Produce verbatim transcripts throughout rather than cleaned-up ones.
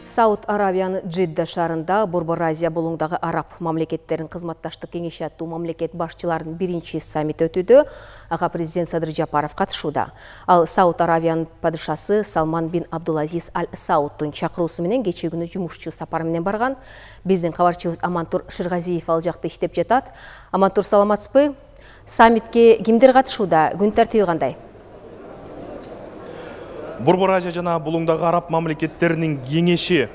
Сауд Аравиянын Джидда шаарында Борбор Азия болуңдагы араб мамлекеттерин кызматташтык кеңеши аттуу мамлекет башчыларынын биринчи саммити өтүүдө. Ага президент Садыр Жапаров катышууда. Ал Сауд Аравиянын падышасы Салман бин Абдулазиз Аль Саудтун чакыруусу менен кечээ күнү жумушчу сапары менен барган. Биздин кабарчыбыз Амантур Шыргазиев ал жакта иштеп жатат. Амантур, саламатсызбы? Саммитке кимдер катышууда? Күн тартиби кандай? Борбор Азия жана булуңдагы араб мамлекеттеринин кеңеши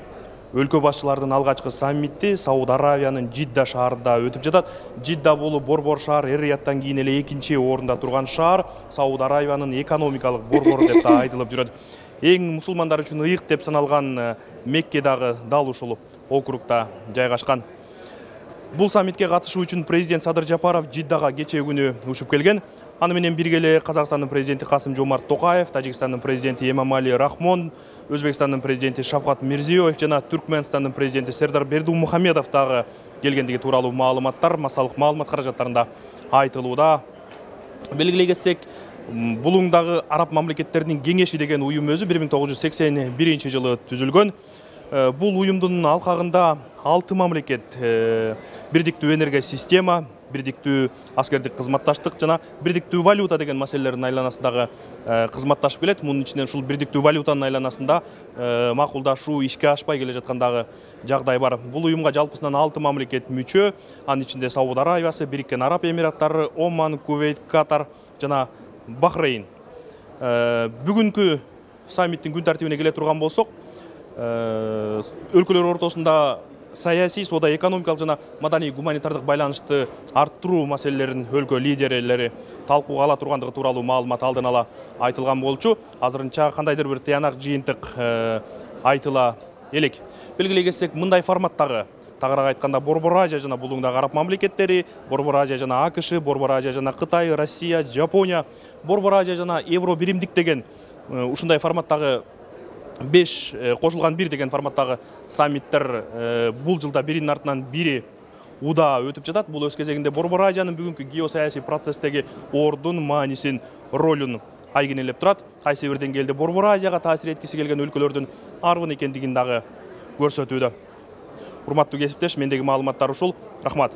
өлкө башчыларынын алгачкы саммити Сауд Аравиянын Джидда шаарында өтүп жатат. Джидда бул борбор шаар Эр-Рияттан кийин эле экинчи орунда турган шаар, Сауд Аравиянын экономикалык борбору деп да айтылып жүрөт. Эң мусулмандар үчүн ыйык деп саналган Мекке дагы дал ушул округда жайгашкан. Бул саммитке катышуу үчүн президент Садыр Жапаров Джиддага кечээ күнү учуп келген. Аны менен бирге эле Казакстандын президенти Касым Жомарт Токаев, Тажикстандын президенти Эмомали Рахмон, Өзбекстандын президенти Шавкат Мирзиёев жана Түркмөнстандын президенти Сердар Бердумухамедов дагы келгендиги тууралуу маалыматтар массалык маалымат каражаттарында айтылууда. Белгилей кетсек, булуңдагы араб мамлекеттеринин кеңеши деген уюм өзү бир миң тогуз жүз сексен биринчи жылы түзүлгөн. Бул уюмдун алкагында алты мамлекет бирдиктүү энергия система, бирдиктүү аскердик кызматташтык жана бирдиктүү валюта деген маселелердин айланасындагы кызматташып келет. Мунун ичинен ушул бирдиктүү валютанын айланасында макулдашуу ишке ашпай келе жаткандагы жагдай бар. Бул уюмга жалпысынан алты мамлекет мүчө. Анын ичинде Сауд Аравиясы, Бириккен Араб Эмираттары, Оман, Кувейт, Катар жана Бахрейн. Бүгүнкү саммиттин күн тартибине келе турган болсок, өлкөлөр ортосунда саясий, соода, экономикалык жана маданий гуманитардык байланышты арттыруу маселелерин өлкө лидерлери талкууга ала тургандыгы тууралуу маалымат алдын ала айтылган болчу. Азырынча кандайдыр бир тыянак жыйынтык айтыла элек. Белгилей кетсек, мындай форматтагы тагыраак айтканда Борбор Азия жана булуңдагы араб мамлекеттери, Борбор Азия жана АКШ, Борбор Азия жана Кытай, Россия, Жапония, Борбор Азия жана Евро биримдик деген ушундай форматтагы беш кошулган бир деген форматтагы саммиттер бул жылда биринин артынан бири удаа өтүп жатат. Бул өз кезегинде Борбор Азиянын бүгүнкү геосаясий процесстеги ордун, маанисин, ролун айгинелеп турат. Кайсы бир деңгээлде Борбор Азияга таасир эткиси келген өлкөлөрдүн арбын экендигин дагы көрсөтүүдө. Урматтуу кесиптеш, мендеги маалыматтар ушул. Рахмат.